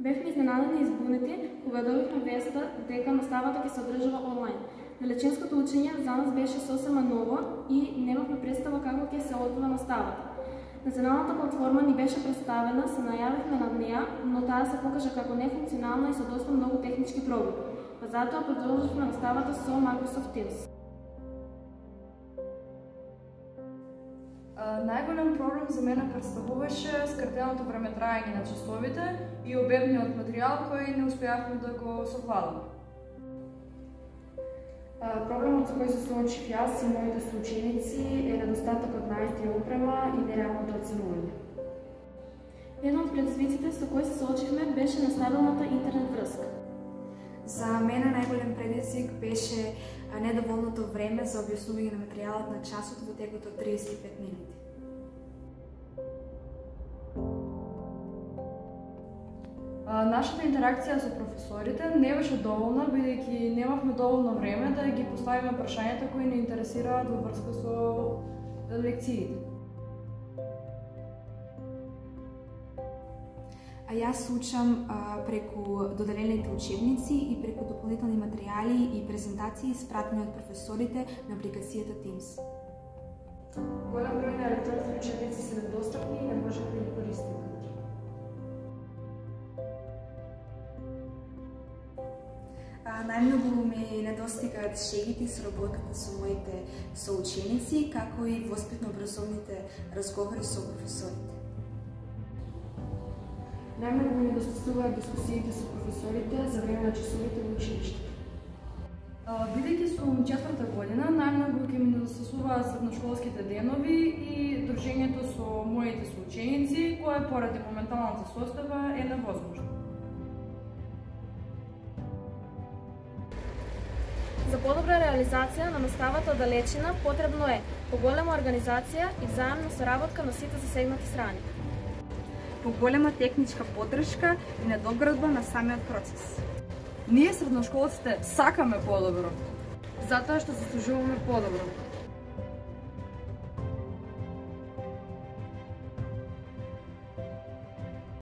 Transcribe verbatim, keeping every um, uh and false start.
Бевме изненадени и избунети кога добивме веста дека наставата ќе се одржува онлайн. Величинското учење за нас беше сосема ново и немавме представа како ќе се одвива наставата. Националната платформа ни беше представена, се најавивме над неа, но таа се покажа како нефункционална и со доста многу технички проблеми. Па затоа продолживме наставата со Microsoft Teams. Најголем проблем за мене представуваше скратеното време траење на часовите и обемниот материјал кој не успеавме да го совладаме. Проблемот со кој се соочив јас и моите соученици е недостатокот на ай ти опрема и нереалното оценување. Едно од предизвиците со кои се соочивме беше нестабилната интернет врска. За мене најголем предизвик беше недоволното време за објаснување на материјалот на часот во текот од триесет и пет минути. Нашата интеракција со професорите не беше доволна, бидејќи немавме доволно време да ги поставиме прашањата кои не интересираат во врска со лекциите. А јас учам а, преку доделените учебници и преку дополнителни материјали и презентации испратени од професорите на апликацијата Teams. Голем број на електронски учебници се недостапни и не можеме да ги користиме. Најмногу ми недостигаат шегите и соработката со моите соученици, како и воспитно-образовните разговори со професорите. Најмногу ми недостасуваат дискусиите со професорите за време на часовите во училиштето. Бидејќи сум четврта година, најмногу ќе ми недостасуваат средношколските денови и дружењето со моите соученици, кое поради моменталната состава е невозможно. За подобра реализација на наставата далечина потребно е поголема организација и взаемна соработка на сите засегнати страни. Поголема техничка поддршка и надоградба на самиот процес. Ние средношколците сакаме подобро, затоа што заслужуваме подобро.